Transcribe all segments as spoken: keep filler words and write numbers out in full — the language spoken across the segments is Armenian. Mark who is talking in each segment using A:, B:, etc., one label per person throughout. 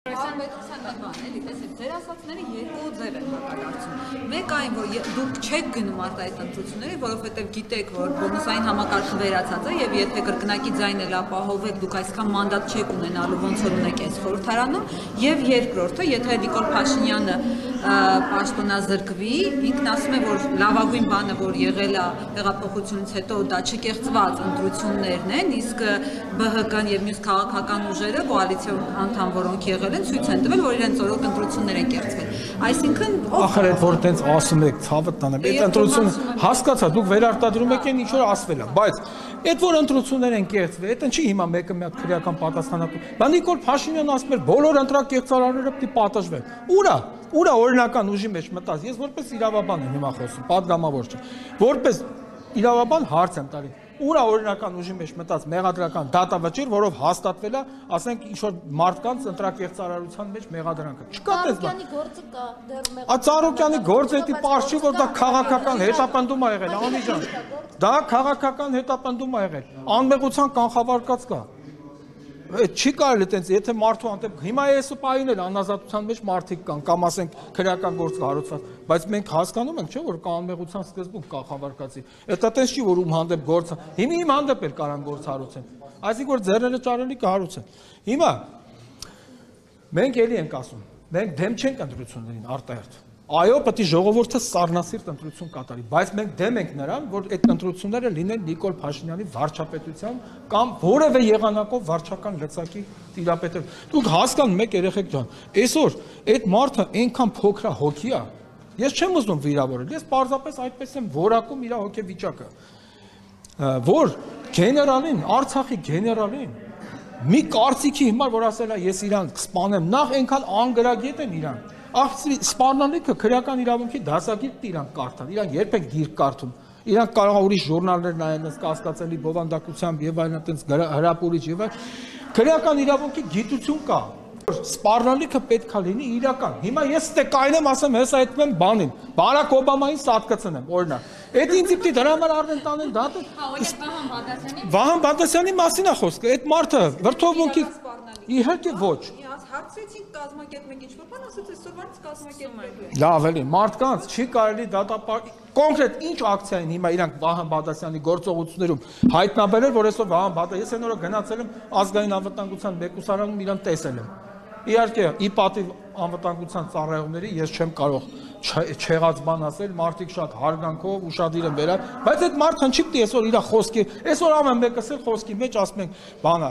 A: Ձեր ասածները երկու ձև են հակադարձում։ Մեկ այն, որ դուք չեք գնում արտահայտ ընտրությունների, որովհետև գիտեք, որ բոնուսային համակարգը վերացած է եւ եթե կրկնակի ձայն էլ ապահովեք, դուք այսքան մանդատ չեք ունենալու, ոնց որ ունեք այս խորհրդարանում, եւ երկրորդը, եթե Նիկոլ Փաշինյանը պաշտոնազրկվի, ինքն ասում է, որ լավագույն բանը, որ եղել է հեղափոխությունից հետո, դա չկեղծված ընտրություններն են, իսկ ԲՀԿ-ն եւ մյուս քաղաքական ուժերը կոալիցիոն անդամ, որոնք եղել են, ցույց են տվել, որ իրենց օրոք ընտրություններ են կեղծվել։ Այսինքն,
B: ախր այդ որ տենց ասում եք, ցավը տանեմ, այդ ընտրություն հասկացա, դուք վերարտադրում եք այն ինչ որ ասվել է, բայց այդ որ ընտրություններ են կեղծվել, այդ ինչի հիմա մեկը մի հատ քրեական պատասխանատու։ Բա Նիկոլ Փաշինյանն ասում էր, բոլոր ընտրակեղծարարները պիտի պատժվեն։ Ուրա, ուրա օրինական ուժի մեջ մտած։ Ես որպես իրավաբան եմ հիմա խոսում, պատգամավոր չէ։ Որպես իրավաբան հարց եմ տալի։ Ուրա օրինական ուժի մեջ մտած մեղադրական դատավճիռ, որով հաստատվել է, ասենք ինչ որ մարդկանց ընտրակեղծարարության մեջ մեղադրանքը։ Չկա դες բան։
C: Ծառուկյանի գործը կա, դեռ մեղադրանք։
B: Ա Ծառուկյանի գործը էդի պարզ չի, որ դա քաղաքական հետապնդում է եղել, Անի ջան։ Դա քաղաքական հետապնդում է եղել։ Անմեղության կանխավարկած կա։ Չի կարելի տենց, եթե մարդու անտեպ հիմա էս պահին էլ անազատության մեջ մարդիկ կան, կամ ասենք քրեական գործ կառուցված, բայց մենք հասկանում ենք, չէ՞ որ կա անմեղության սկզբունք կանխավարկածի։ Դա տենց չի, որ ում հանդեպ գործ, հիմա իմ հանդեպ էլ կարան գործ հարուցեն։ Այսինքն որ ձեռները ճարելի կհարուցեն։ Հիմա մենք էլի ենք ասում, մենք դեմ չենք ընտրություններին արտահերթ։ Այո, պետք է ժողովուրդը սառնասիրտ ընտրություն կատարի, բայց մենք դեմ ենք նրան, որ այդ ընտրությունները լինեն Նիկոլ Փաշինյանի վարչապետության կամ որևէ եղանակով վարչական լծակի տիրապետել։ Դուք հասկանում եք երեխեք ջան, այսօր այդ մարդը այնքան փոքր հոգի է, ես չեմ ուզում վիրավորել, ես պարզապես այդպես եմ որակում իր հոգեվիճակը, որ գեներալին, Արցախի գեներալին մի կարծիքի հիմար, որ ասել է ես իրան կսպանեմ, նախ այնքան անգրագետ են իրան։ Ախսի սպառնալիքը քրեական իրավունքի դասագիրքն իրանք կարդան, իրանք երբեք գիրք կարդում, իրանք կարող է ուրիշ ժուրնալներ նայեն, կասկածելի բովանդակությամբ եւ այլն, այտենց հրապուրիչ եւ այլ։ Քրեական իրավունքի գիտություն կա։ Սպառնալիքը պետք է լինի իրական։ Հիմա ես ստե կայնեմ ասեմ, հեսա այդքան բանին։ Բարակ Օբամային սատկացնեմ, օրինակ։ Այդ ինձ պիտի դրա համար առնեն տանեն դատը։ Վահան Բադասյանի մասին է խոսքը, այդ մարդը վրթովմունքի իհարկե ոչ։
A: Հարցրեցինք կազմակերպ եք ինչ-որ բան, ասաց այսօրվանից կազմակերպում եք։
B: Լավ էլի, մարդկանց չի կարելի դատապար կոնկրետ ինչ ակցիա են հիմա իրանք Վահան Բադասյանի գործողություններում հայտնաբերել, որ այսօր Վահան Բադասյանը, ես այն օրը գնացել եմ ազգային անվտանգության մեկուսարանում իրան տեսել եմ։ Իհարկե, ի պատիվ անվտանգության ծառայողների ես չեմ կարող չեղած բան ասել, մարդիկ շատ հարգանքով ուշադիր են վերա, բայց այդ մարդը չի պիտի այսօր իր խոսքի, այսօր ամեն մեկը սեր խոսքի մեջ ասում ենք, բանա,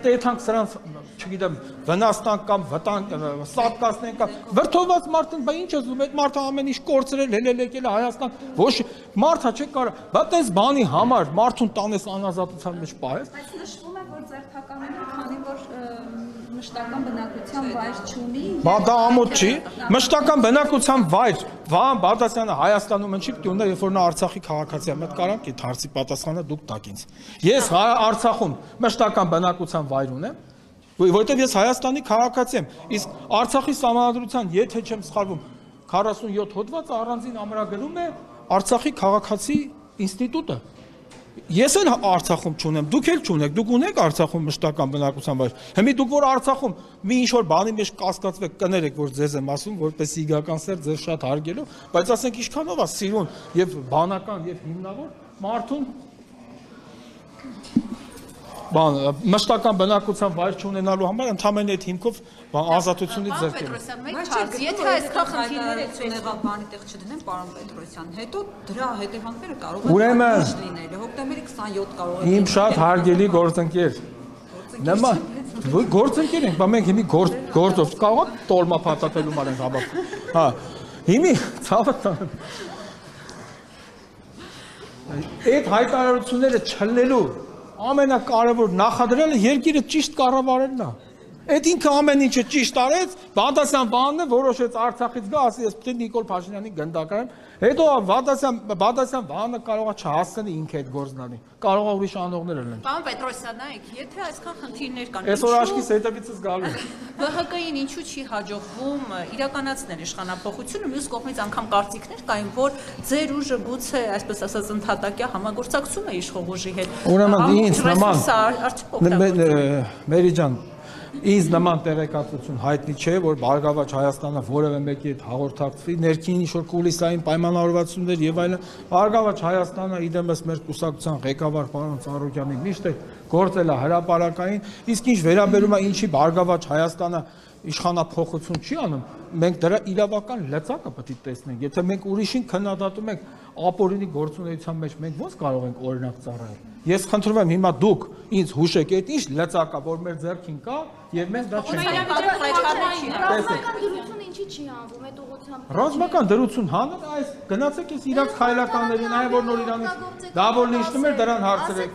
B: հետանք սրանց, չգիտեմ, վնաստանք կամ վտանգ, սատկացնենք կամ վրդովված մարդն, բա ինչ ես ուզում, այդ մարդը ամեն ինչ կորցրել, հելել եկել Հայաստան, ոչ մարդը չի կարող, բա տես բանի համար մարդուն տանես անազատության մեջ պահես։
A: Բայց նշվում է, որ ձեր թակամենը, քանի որ մշտական բնակության վայր չունի։
B: Բա դա ամոթ չի, մշտական բնակության վայր, Վահան Բադասյանը Հայաստանում չի պիտի ունենա, երբ որ նա Արցախի քաղաքացի է, մտ կարանք այդ հարցի պատասխանը դուք տաք ինձ։ Ես Արցախում մշտական բնակության վայր ունեմ, որովհետև ես Հայաստանի քաղաքացի եմ, իսկ Արցախի սահմանադրության, եթե չեմ սխալվում, քառասունյոթ հոդվածը առանձին ամրագրում է Արցախի քաղաքացի ինստիտուտը։ Ես էլ Արցախում չունեմ, դուք էլ չունեք, դուք ունեք Արցախում մշտական բնակության վայր։ Հիմա դուք որ Արցախում մի ինչ որ բանի մեջ կասկածվեք, կներեք, որ ձեզ եմ ասում, որպես իգական սեր ձեզ շատ հարգելով, բայց ասենք ինչքանով է սիրուն եւ բանական եւ հիմնավոր մարդուն բան մշտական բնակության վայր չունենալու համար ընդհանրեն այդ հիմքով ազատությունից ձեռքել։
A: Եթե այսքան խնդիրներ եք եղավ բանի տեղ չդնեն, պարոն Պետրոսյան, հետո դրա հետևանքները կարող են լինել։ Հոկտեմբերի քսանյոթ կարող է։
B: Իմ շատ հարգելի գործընկեր։ Նամա գործընկեր ենք, բա մենք հիմի գործով կարող է տոլմա փաթաթելու մար ենք հաբա։ Հա։ Հիմի ցավը տան։ Այդ հայտարարությունները չլնելու ամենակարևոր նախադրյալը երկիրը ճիշտ կառավարելն է։ Այդ ինքը ամեն ինչը ճիշտ արեց, Բադասյան Վահանն է որոշեց Արցախից գա, ասի ես պետք է Նիկոլ Փաշինյանի գնդակարան, հետո Բադասյան Բադասյան Վահանը կարող է չհասցնի ինքը այդ գործնանի, կարող է ուրիշ անողներ լինեն։
A: Պարոն Պետրոսյան, նայեք, եթե այսքան խնդիրներ կան,
B: այսօր աշկիս հետևիցս գալու է։
A: ԲՀԿ-ին ինչու չի հաջողվում իրականացնել իշխանապողությունը, մյուս կողմից անգամ կարծիքներ կային, որ ձեր ուժը գուցե, այսպես ասած, ընդհատակյա համագործակցում է իշխող ուժի հետ։
B: Ուրեմն ինձ նման Մերի ջան, Ինձ նման տեղեկատվություն հայտնի չէ, որ Բարգավաճ Հայաստանը որևէ մեկի հետ հաղորդակցվի, ներքին ինչ-որ կուլիսային պայմանավորվածություններ եւ այլն։ Բարգավաճ Հայաստանը իդեմս մեր կուսակցության ղեկավար պարոն Ծառուկյանի միշտ է գործել է հրապարակային, իսկ ինչ վերաբերում է ինչի Բարգավաճ Հայաստանը իշխանափոխություն չի անում, մենք դրա իրավական լծակը պետք է տեսնենք։ Եթե մենք ուրիշին քննադատում ենք ապօրինի գործունեության մեջ, մենք ո՞նց կարող ենք օրինակ ծառայել։ Ես խնդրում եմ հիմա դուք ինձ հուշեք, այդ ինչ լծակա, որ մեր ձեռքին կա, եւ մենք դա չենք
C: դրությունը ինչի չի անվում այդ ուղղությամբ։
B: Ռազմական դրություն հանել, այս գնացեք ես իրանց խայլականներին, այ որ նոր Իրանից դա որ լիշնում էր դրան հարցրեք։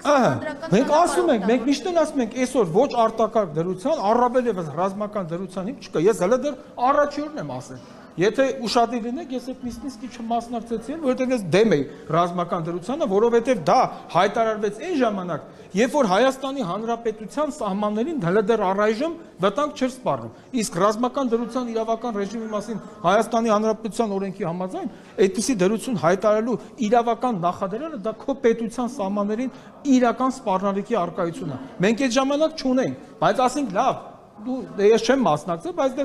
B: Ահա, մենք ասում ենք, մենք միշտ էլ ասում ենք, այսօր ոչ արտակարգ դրության, առավել եւս ռազմական դրության հիմք չկա։ Ես հələ դեռ առաջորդն եմ ասել։ Եթե ուշադիր լինեք, ես այդ նույնիսկ չմասնակցեցի, որովհետև ես դեմ էի ռազմական դրությանը, որովհետև դա հայտարարվեց այն ժամանակ, երբ որ Հայաստանի Հանրապետության սահմաններին հələ դեռ առայժմ վտանգ չէր սպառնում։ Իսկ ռազմական դրության իրավական ռեժիմի մասին Հայաստանի Հանրապետության օրենքի համաձայն այդպիսի դրություն հայտարարելու իրավական նախադրյալը դա քո պետության սահմաններին իրական սպառնալիքի առկայությունն է։ Մենք այդ ժամանակ չունենք, բայց ասենք լավ, դու ես չեմ մասնակցել, բայց դե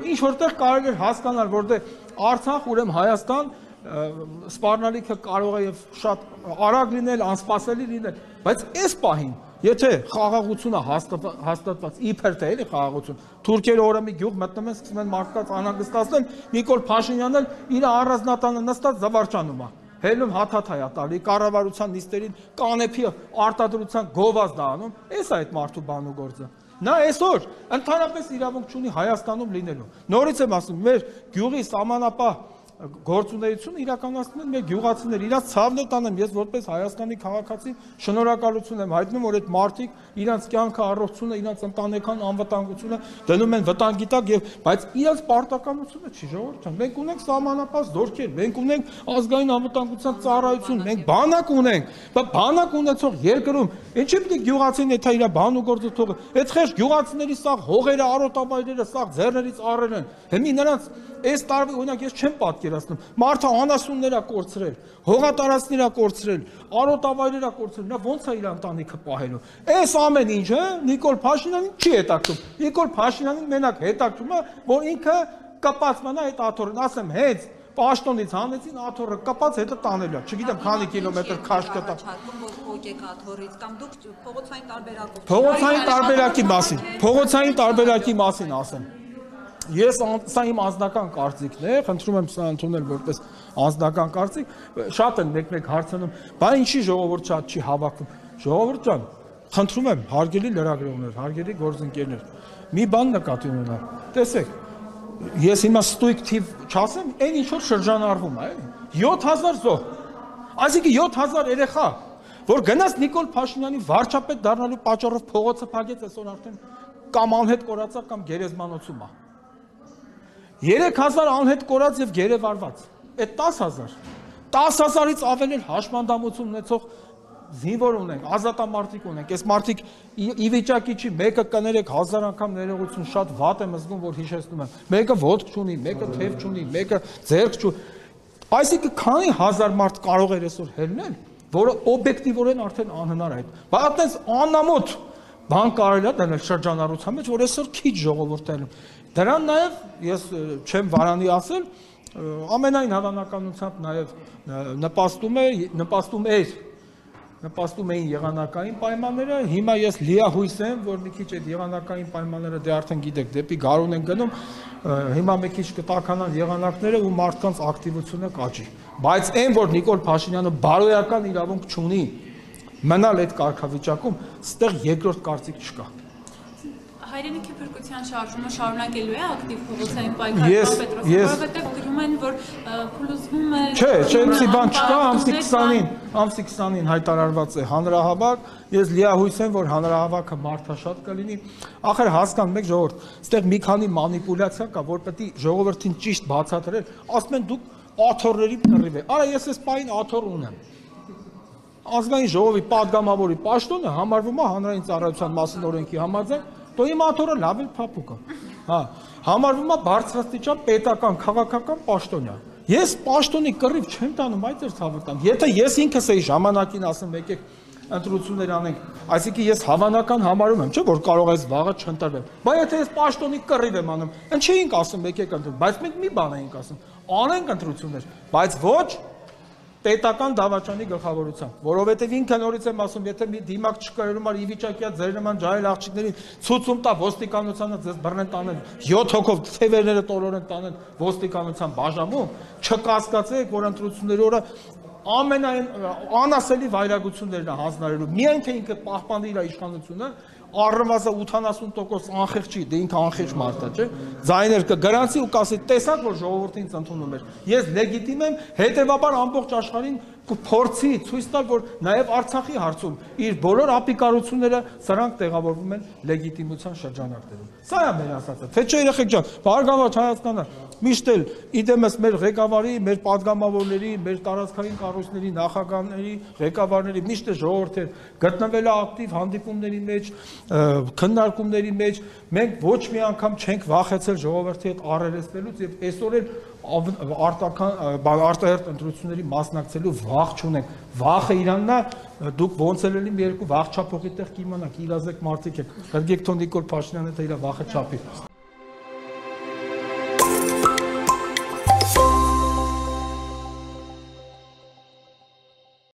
B: ինչ որտեղ կարելի է հասկանալ, որ դե Արցախ, ուրեմն Հայաստան սպառնալիքը կարող է եւ շատ արագ լինել, անսպասելի լինել, բայց այս պահին, եթե խաղաղությունը հաստատված, իբր թե էլի խաղաղություն, թուրքերը օրը մի գյուղ մտնում են, սկսում են մարդկանց անհանգստացնել, Նիկոլ Փաշինյանն էլ իր առանձնատանը նստած զվարճանում է։ Հելում հաթաթայ է տալի, կառավարության նիստերին կանեփի արտադրության գովազդ է անում, էս է այդ մարդու բան ու գործը։ Նա այսօր ընդհանրապես իրավունք չունի Հայաստանում լինելու։ Նորից եմ ասում, մեր գյուղի սահմանապահ գործունեությունը իրականացնում են մեր գյուղացիներ, իրաց ցավն է տանում, ես որպես Հայաստանի քաղաքացի շնորհակալություն եմ հայտնում, որ այդ մարդիկ իրանց կյանքը, առողջությունը, իրանց ընտանեկան անվտանգությունը դնում են վտանգի տակ եւ բայց իրանց պարտականությունը չի ժողովուրդ։ Մենք ունենք սահմանապահ զորքեր, մենք ունենք ազգային անվտանգության ծառայություն, մենք բանակ ունենք, բայց բանակ ունեցող երկրում ինչի՞ պետք է գյուղացին եթե իր բան ու գործը թողը։ Այդ խեղճ գյուղացիների սաղ հողերը, արոտավայրերը սաղ ձեռներից առել են։ Հիմի նրանց այս տարվա օրինակ ես չեմ պատկերացնում, մարդը անասուններ է կորցրել, հողատարածքներ է կորցրել, արոտավայրեր է կորցրել, նա ո՞նց է իր ընտանիքը պահելու։ Այս ամեն ինչը Նիկոլ Փաշինյանին չի հետաքրում։ Նիկոլ Փաշինյանին մենակ հետաքրում է, որ ինքը կպած մնա այդ աթոռին, ասեմ, հենց Պաշտոնից հանեցին աթոռը կպած հետը տանելա, չգիտեմ քանի կիլոմետր քաշ կտա։
A: Աթոռից կամ դուք փողոցային տարբերակով։
B: Փողոցային տարբերակի մասին, փողոցային տարբերակի մասին ասեմ։ Ես սա իմ անձնական կարծիքն է, խնդրում եմ սա ընդունել որպես անձնական կարծիք, շատ են մեկ-մեկ հարցնում, բա ինչի ժողովուրդ շատ չի հավաքվում։ Ժողովուրդ ջան, խնդրում եմ, հարգելի լրագրողներ, հարգելի գործընկերներ, մի բան նկատի ունենալ։ Տեսեք, ես հիմա ստույգ թիվ չասեմ, այն ինչ որ շրջանառվում է, էլի։ յոթ հազար զոհ։ Այսինքն յոթ հազար երեխա, որ գնաց Նիկոլ Փաշինյանի վարչապետ դառնալու պատճառով փողոցը փակեց, այսօր արդեն կամ անհետ կորածա կամ գերեզմանոցում է։ երեք հազար անհետ կորած եւ գերեվարված։ Այդ տասը հազար։ տասը հազարից ավել էլ հաշմանդամություն ունեցող զինվոր ունենք, ազատամարտիկ ունենք։ Այս մարդիկ ի վիճակի չի, մեկը կներեք հազար անգամ ներողություն, շատ վատ եմ զգում, որ հիշեցնում եմ։ Մեկը ոտք չունի, մեկը թև չունի, մեկը ձեռք չունի։ Այսինքն քանի հազար մարդ կարող էր այսօր հելնել, որը օբյեկտիվորեն արդեն անհնար է։ Բայց այդպես անամոթ բան կարելի է դնել շրջանառության մեջ, որ այսօր քիչ ժողովուրդ է։ Դրան նաև ես չեմ վարանի ասել, ամենայն հավանականությամբ նաև նպաստում է, նպաստում էր, նպաստում էին եղանակային պայմանները, հիմա ես լիահույս եմ, որ մի քիչ այդ եղանակային պայմանները դե արդեն գիտեք, դեպի գարուն են գնում, հիմա մի քիչ կտականան եղանակները ու մարդկանց ակտիվությունը կաճի։ Բայց այն, որ Նիկոլ Փաշինյանը բարոյական իրավունք չունի մնալ այդ կարգավիճակում, ստեղ երկրորդ կարծիք չկա։
D: Հայրենիքի փրկության շարժումը շարունակելու է ակտիվ փողոցային պայքարը Պետրոսը, որովհետև գրում են, որ փլուզվում է։
B: Չէ, չէ, ինչի բան չկա, ամսի քսանին, ամսի քսանին հայտարարված է հանրահավաք, ես լիահույս եմ, որ հանրահավաքը մարդաշատ կլինի։ Ախր հասկան մեկ ժողովուրդ, այստեղ մի քանի մանիպուլյացիա կա, որ պետք է ժողովրդին ճիշտ բացատրել, ասում են դուք աթոռների կռիվ եք։ Արա ես այս պահին աթոռ ունեմ։ Ազգային ժողովի падգամավորի պաշտոնը համարվում է հանրային ծառայության մասին օրենքի համաձայն, դու իմ աթոռը լավ էլ փափուկ է։ Հա, համարվում է բարձրաստիճան պետական քաղաքական պաշտոնյա։ Ես պաշտոնի կռիվ չեմ տանում, այդ էր ցավը տամ։ Եթե ես ինքս էի ժամանակին ասեմ, եկեք ընտրություններ անենք, այսինքն ես հավանական համարում եմ, չէ՞ որ կարող է վաղը չընտրվեմ։ Բայց եթե ես պաշտոնի կռիվ եմ անում, ինչ էինք ասում, եկեք ընտրենք, բայց մենք մի բան էինք ասում, անենք ընտրություններ, բայց ոչ պետական դավաճանի գլխավորությամբ, որովհետև ինքը նորից եմ ասում, եթե մի դիմակ չկրում ար ի վիճակի ձեր նման ջահել աղջիկներին ցույցում տա ոստիկանությանը ձեզ բռնեն տանեն յոթ հոգով թևերները տորորեն տանեն ոստիկանության բաժանում, չկասկածեք, որ ընտրությունների օրը ամենայն անասելի վայրագություններն է հանձնարարելու, միայն թե ինքը պահպանի իր իշխանությունը, առնվազն ութանասուն տոկոս անխիղճ չի, դե ինքը անխիղճ մարդ է, չէ՞։ Ձայներ կգրանցի ու կասի, տեսակ որ ժողովուրդը ինձ ընդունում էր։ Ես լեգիտիմ եմ, հետևաբար ամբողջ աշխարհին կփորձի ցույց տալ, որ նաև Արցախի հարցում իր բոլոր ապիկարությունները սրանք տեղավորվում են լեգիտիմության շրջանակներում։ Սա է մեր ասածը, թե չէ երեխեք ջան, բարգավաճ Հայաստանը միշտ էլ իդեմս մեր ղեկավարի, մեր падգամավորների, մեր տարածքային կառույցների նախագահների, ղեկավարների միշտ է ժողովուրդը գտնվել է ակտիվ հանդիպումների մեջ, քննարկումների մեջ, մենք ոչ մի անգամ չենք վախեցել ժողովրդի հետ առերեսվելուց եւ այսօր էլ արտական արտահերտ ընտրությունների մասնակցելու վախ չունենք։ Վախը իրանն է, դուք ոնց էլ լինի մի երկու վախ չափողի տեղ կիմանաք, իրազեկ մարդիկ եք։ Գրգեկ Նիկոլ Փաշինյանը թե իր վախը չափի։